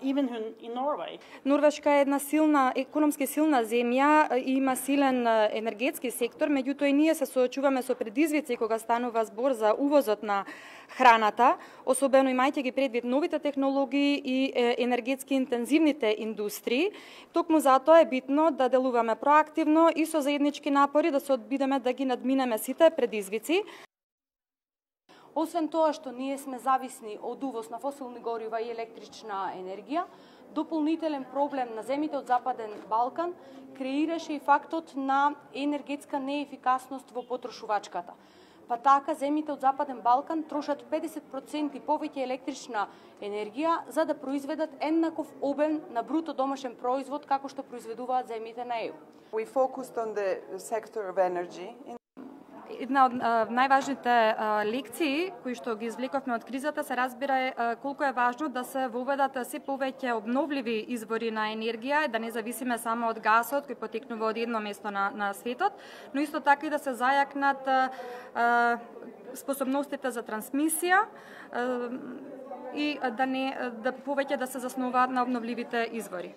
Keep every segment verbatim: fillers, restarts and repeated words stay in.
even in Norway. Норвешка е една силна, економски силна земја и има силен енергетски сектор, меѓутоа и ние се соочуваме со предизвици кога станува збор за увозот на храната, особено имајќи ги предвид новите технологии и енергетски интензивните индустрии. Токму затоа е битно да делуваме проактивно и со заеднички напори да се одбидеме да ги надминеме сите предизвици. Освен тоа што ние сме зависни од увоз на фосилни горива и електрична енергија, дополнителен проблем на земите од Западен Балкан креираше и фактот на енергетска неефикасност во потрошувачката. Па така, земите од Западен Балкан трошат педесет проценти повеќе електрична енергија за да произведат еднаков обем на бруто домашен производ како што произведуваат земите на Е Ју. We focused on the sector of energy. Една од најважните лекции кои што ги извлековме од кризата се разбира е колку е важно да се воведат се повеќе обновливи извори на енергија, да не зависиме само од гасот кој потекнува од едно место на, на светот, но исто така и да се зајакнат а, способностите за трансмисија а, и да не да повеќе да се заснуваат на обновливите извори.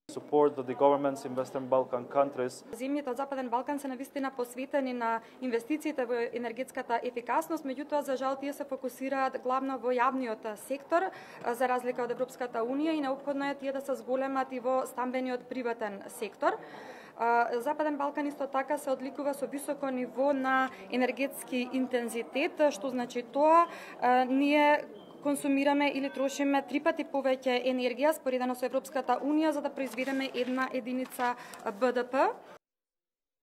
Support that the governments in Western Balkan countries. Земјите од Западен Балкан се навистина посветени на инвестициите во енергетската ефикасност, меѓутоа за жал тие се фокусираат главно во јавниот сектор, за разлика од Европската унија, и неопходно е тие да се зголемат и во стамбениот приватен сектор. Западен Балкан исто така се одликува со високо ниво на енергетски интензитет, што значи тоа ние консумираме или трошиме три пати повеќе енергија споредено со Европската унија за да произведеме една единица Б Д П.